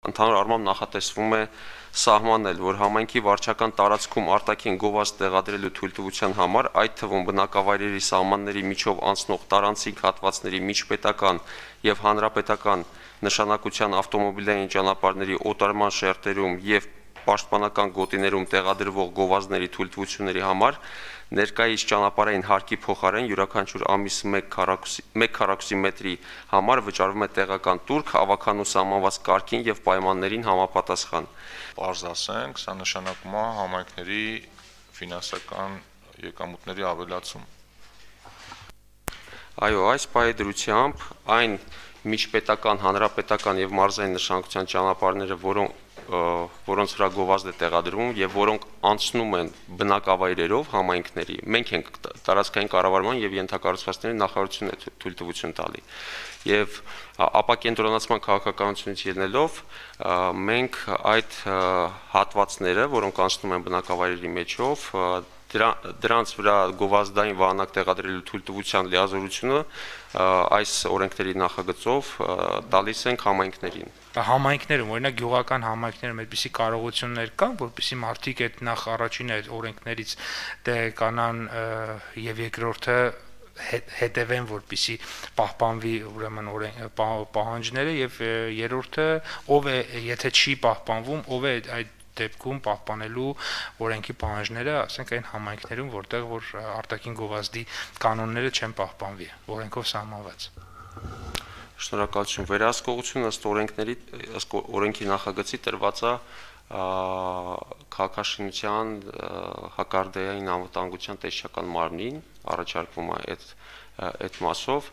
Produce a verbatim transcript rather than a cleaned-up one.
Ընդհանուր առմամբ նախատեսվում է սահմանել, որ համայնքի վարչական տարածքում արտաքին գովազդ տեղադրելու թույլտվության համար, այդ թվում բնակավայրերի սահմանների միջով անցնող տարանցիկ հատվածների միջպետական եւ հանրապետական նշանակության ավտոմոբիլային ճանապարհների օտարման շերտերում եւ պաշտպանական գոտիներում տեղադրվող գովազդների թույլտվությունների համար ներկայիս ճանապարհային հարկի փոխարեն յուրաքանչյուր ամիս մեկ քառակուսի մետրի համար վճարվում է տեղական տուրք հավաքանու սահմանված կարգին եւ պայմաններին համապատասխան։ Պարզ ասենք, սա նշանակում է համայնքների ֆինանսական եկամուտների ավելացում։ Այո, այս պայդրությամբ այն միջպետական, հանրապետական եւ մարզային նշանակության ճանապարհները, որոնք որոնց վրա գովազդ է տեղադրվում եւ որոնք անցնում են բնակավայրերով համայնքների, մենք ենք տարածքային կառավարման եւ ենթակառուցվածքների նախարարությունն է թույլտվություն տալի։ Եվ ապակենտրոնացման քաղաքականությունից ելնելով մենք այդ հատվածները, որոնք անցնում են բնակավայրերի մեջով, դրանց վրա գովազդային վահանակ տեղադրելու թույլտվության լիազորությունը այս օրենքների նախագծով տալիս ենք համայնքներին։ Համայնքներում, օրինակ գյուղական համայնքներում այդպիսի կարողություններ կան, որպեսզի մարդիկ այդ նախ առաջին այդ օրենքներից տեղեկանան եւ երկրորդը հետևեն, որպեսզի պահպանվի ուրեմն պահանջները եւ երրորդը ով է, եթե չի պահպանվում, ով է այդ դեպքում պահպանելու օրենքի պահանջները, ասենք այն համայնքներում, որտեղ որ արտաքին գովազդի կանոնները չեն պահպանվի, օրենքով սահմանված։ Շնորհակալություն։ Վերահսկողությունը ըստ օրենքների, ըստ օրենքի նախագծի տրված է քաղաքաշինության հակարդեային անվտանգության տեսչական մարմնին, առաջարկվում է այդ այդ մասով,